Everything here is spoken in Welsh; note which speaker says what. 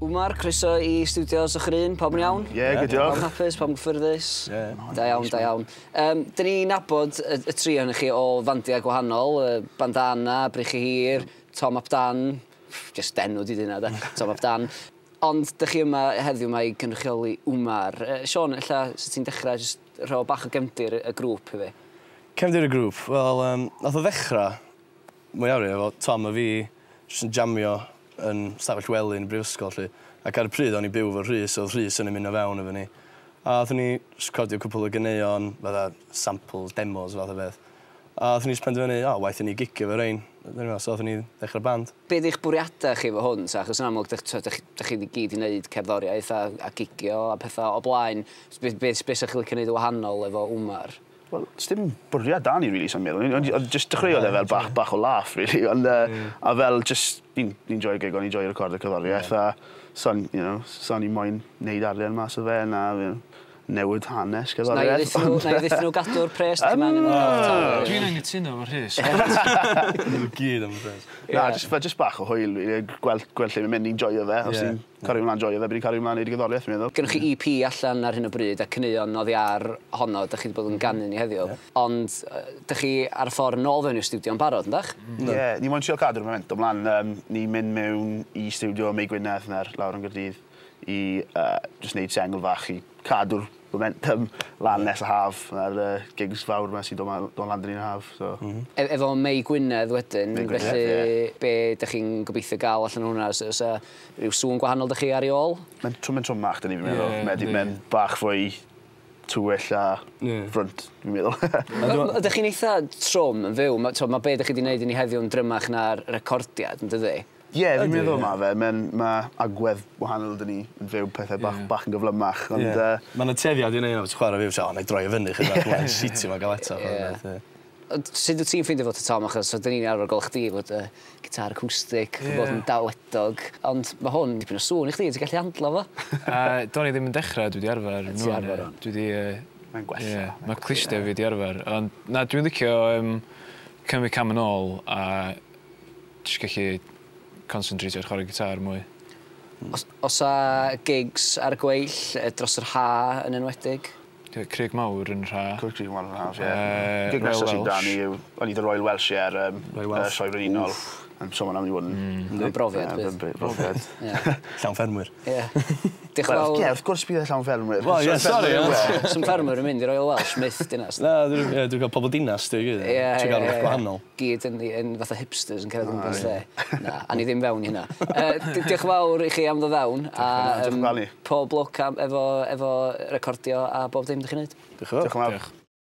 Speaker 1: Umar, croeso i stiwdios Ochr Un, pawb yn iawn?
Speaker 2: Ie, good
Speaker 1: Pawb
Speaker 2: diolch.
Speaker 1: yn hapus, pawb yn gyffyrddus?
Speaker 3: Ie.
Speaker 1: Da iawn, da iawn. Dyn ni'n nabod y tri ohonych chi o fandiau gwahanol, Bandana, Breichiau Hir, Tom ap Dan, just enw di dyna de, Tom ap Dan. Ond dych chi yma heddiw 'ma i gynrychioli Umar. Siôn, ella 'sa ti'n dechrau jyst rho bach o gefndir y grŵp i fi?
Speaker 3: Cefndir y grŵp? Wel, nath o ddechrau mwyafrif efo Tom a fi jyst yn jamio yn stafell wely yn y brifysgol 'lly. Ac ar y pryd o'n i'n byw efo Rhys, oedd Rhys yn ymuno fewn efo ni. A oedden ni jyst recordio cwpl o ganeuon, fatha samples, demos fath o beth. A oedden ni jyst penderfynu, o, waeth i ni gigio efo rein. So oedden ni ddechrau band.
Speaker 1: Be 'di'ch bwriadau chi efo hwn ta? Achos yn amlwg, dych, t'od, dych, dych chi gyd i wneud cerddoriaeth a gigio a pethau o blaen. Be 'sa chi licio wneud yn wahanol efo Umar?
Speaker 2: Wel, dim bwriad da ni, really, sa'n meddwl. Ond just dechreuodd e fel bach o laugh, really. Ond, a fel, just, ni'n joio gigo, ni'n joio recordio cerddoriaeth, a so ni moyn neud arian mas o fe, na, newid hanes
Speaker 1: Na i
Speaker 2: cerddoriaeth.
Speaker 1: ddeithio nhw gadw'r pres, dych chi'n angen nhw.
Speaker 4: Dwi'n angytuno efo Rhys.
Speaker 3: Gyd am y pres.
Speaker 2: Na, just bach o hwyl, really, gweld lle mae'n mynd, ni'n joio fe. Os ni'n cario ymlaen joio fe, bydd ni'n cario ymlaen neud y gerddoriaeth, fi'n meddwl.
Speaker 1: Gynnoch chi EP allan ar hyn o bryd a caneuon oddi ar honno, dych chi wedi bod yn ganu ni heddiw. Ond dych chi ar y ffordd nôl fewn i'r stiwdio'n barod, yndach?
Speaker 2: Ie, ni moyn trio cadw'r momentum lan. Ni'n mynd mewn i stiwdio Mei Gwynedd na'r lawr yn Gaerdydd i just neud sengl fach i cadw'r momentum lan nes y haf a'r gigs fawr yma sy'n dod lan dyn ni'n haf. So.
Speaker 1: Efo Mei Gwynedd wedyn,
Speaker 2: Mei Gwynedd,
Speaker 1: felly
Speaker 2: ie.
Speaker 1: be dych chi'n gobeithio gael allan o hwnna? Oes 'na ryw sŵn gwahanol dych chi ar ei ôl?
Speaker 2: Mae'n trwmach, dyn ni, fi'n meddwl.
Speaker 4: Ie,
Speaker 2: Mae'n
Speaker 4: yndi.
Speaker 2: Mae'n bach fwy tywyll a front, fi'n meddwl.
Speaker 1: Ydych chi'n eitha trwm yn fyw? Mae ma be dych chi wedi gwneud i ni heddiw yn drymach na'r recordiad, yn dydi?
Speaker 2: Ie, fi'n
Speaker 3: Ydi,
Speaker 2: meddwl
Speaker 3: ie.
Speaker 2: ma fe. Ma agwedd wahanol dyn ni yn fyw pethau bach, bach yn gyflymach. Ond,
Speaker 3: Mae'n y tueddiad i wneud o, ti'n chwarae fyw, o, na i droi o fyny, chydig bach, mae'n shitio ma'n gael eto.
Speaker 1: Ie. Ond sut wyt ti'n ffeindio fod y Tom, achos so, dyn ni'n arfer gweld chdi fod y gitar acoustic, bod yn dawedog, ond mae hwn dipyn o sŵn i chdi, ti'n gallu handlo fo?
Speaker 4: Do'n i ddim yn dechrau, dwi wedi arfer.
Speaker 1: Ti arfer o'n?
Speaker 4: Dwi wedi...
Speaker 2: Mae'n gwella.
Speaker 4: Ie, mae clustiau fi wedi arfer. Ond na, dwi'n licio cymryd cam yn ôl a jyst gallu concentrate ar chwarae gitar mwy.
Speaker 1: Os a gigs ar y gweill, dros yr ha yn enwedig?
Speaker 4: Craig Mawr yn rha.
Speaker 2: Craig Mawr yn haf, ie.
Speaker 4: Royal
Speaker 2: Gig nesaf sy'n
Speaker 4: Welsh.
Speaker 2: dan ni yw, o'n i The Royal Welsh, ie, ar
Speaker 3: Royal Welsh.
Speaker 2: Sioe Frenhinol. So ma'n am i fod yn
Speaker 1: Mae'n brofiad,
Speaker 2: Ie,
Speaker 1: bydd.
Speaker 2: Brofiad.
Speaker 3: Llawn ffermwyr.
Speaker 1: Ie. Diolch yn
Speaker 2: Wel,
Speaker 1: fawr.
Speaker 2: ie, wrth gwrs bydd e llawn ffermwyr.
Speaker 3: Wel, ie, sorry, ie.
Speaker 1: Some ffermwyr yn mynd i Royal Welsh, myth dinas.
Speaker 3: Na, dwi'n cael pobl dinas, dwi'n gyd.
Speaker 1: Ie,
Speaker 3: Ti'n gael rhywbeth gwahanol.
Speaker 1: Gyd yn fatha hipsters yn cerdded o gwmpas lle. Na, a ni ddim fewn i hynna. Diolch yn fawr i chi am ddod fewn. A,
Speaker 2: Diolch yn fawr ni.
Speaker 1: pob lwc efo recordio a bob dim dych chi'n neud.
Speaker 3: Diolch yn fawr.
Speaker 2: Diolch yn fawr.
Speaker 4: Diolch.